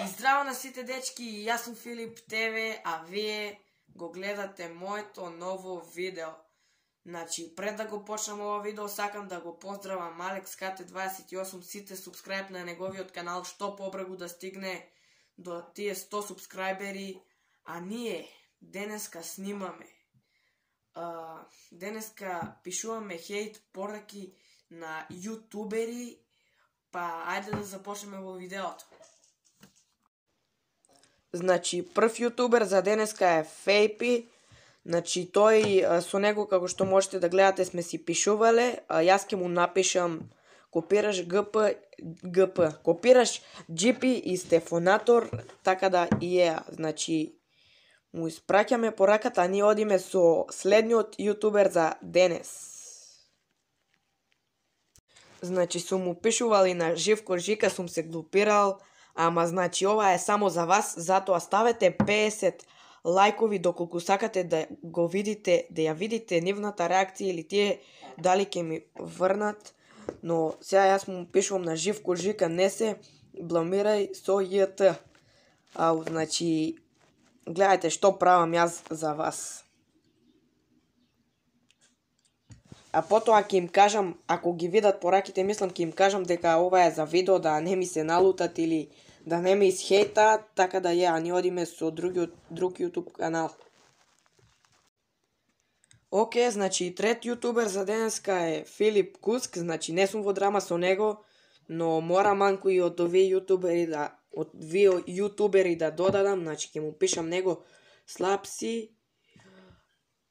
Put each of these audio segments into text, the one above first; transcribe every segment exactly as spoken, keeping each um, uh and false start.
И здраво на сите дечки, јас сум Филип ТВ, а вие го гледате моето ново видео. Значи, пред да го почнам ова видео, сакам да го поздравам Алекс К Т дваесет и осум, сите субскрайб на неговиот канал, што побрзо да стигне до тие сто субскрайбери. А ние денеска снимаме. Uh, денеска пишуваме хейт пораки на јутубери, па ајде да започнеме во видеото. Значи, прв јутубер за денеска е Фейпи. Значи, тој со него, како што можете да гледате, сме си пишувале. Јас ќе му напишам копираш ГП, ГП, копираш Джипи и Стефонатор, така да и е. Значи, му испраќаме пораката, а ние одиме со следниот јутубер за денес. Значи, сум му пишувал и на Живко Жика, сум се глупирал, ама значи ова е само за вас, затоа ставете песет лајкови доколку сакате да го видите, да ја видите нивната реакција или тие дали ќе ми врнат. Но сега јас му пишувам на Живко Жика, не се бламирај со ЈТ. Ау, значи, гледајте што правам јас за вас. А потоа ќе им кажам, ако ги видат пораките, мислам ќе им кажам дека ова е за видео, да не ми се налутат или да не ме исхейтаат, така да ја, ние одиме со другиот, друг YouTube канал. Оке, значи трет јутубер за денеска е Филип Куск, значи не сум во драма со него, но мора манку и од овие јутубери да од вие јутубери да додадам, значи ќе му пишам него слаб си,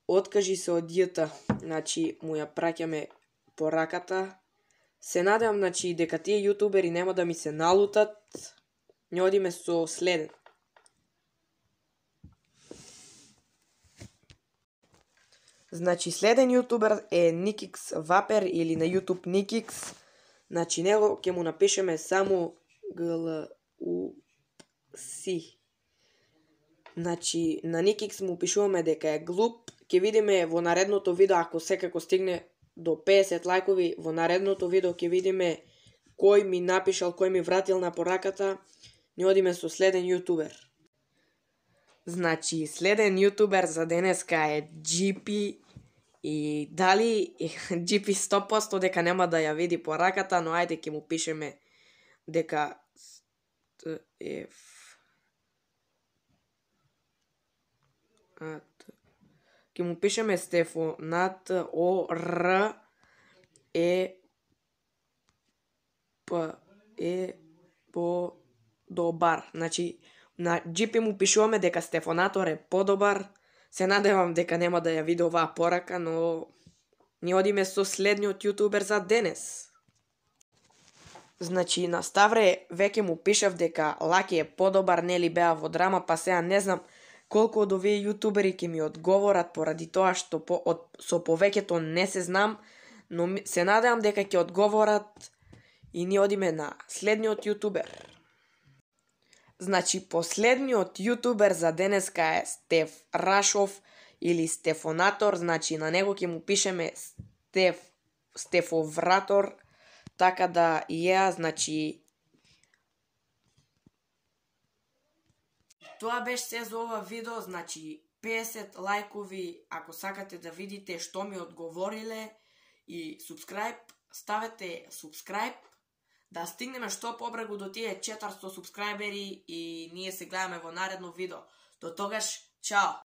откажи се од ЈТ, значи му ја праќаме пораката. Се надевам, значи, дека тие јутубери нема да ми се налутат. Не одиме со следен. Значи, следен јутубер е Никикс Вапер или на YouTube Никикс. Значи, него ќе му напишеме само гл у си. Значи, на Никикс му пишуваме дека е глуп. Ќе видиме во наредното видео, ако секако стигне до песет лајкови, во наредното видео ќе видиме кој ми напишал, кој ми вратил на пораката. Не одиме со следен јутубер. Значи, следен јутубер за денеска е Джипи. И дали Джипи сто проценти дека нема да ја види пораката, но ајде ќе му пишеме дека е ќе му пишеме Стефонат О Р е П е по добар. Значи, на Джипи му пишуваме дека Стефонатор е подобар. Се надевам дека нема да ја види оваа порака, но ние одиме со следниот јутубер за денес. Значи, на Ставре веќе му пишав дека Лаки е подобар, нели беа во драма, па сега не знам колку од овие јутубери ќе ми одговорат поради тоа што по, од, со повеќето не се знам, но се надевам дека ќе одговорат и ние одиме на следниот јутубер. Значи, последниот јутубер за денеска е Стеф Рашов или Стефонатор, значи на него ќе му пишеме Стеф Стефовратор, така да и ја, значи тоа беше се за ова видео, значи песет лајкови ако сакате да видите што ми одговориле и субскрайб, ставете субскрайб, да стигнеме што побрзо до тие четиристо субскрајбери и ние се гледаме во наредно видео. До тогаш, чао!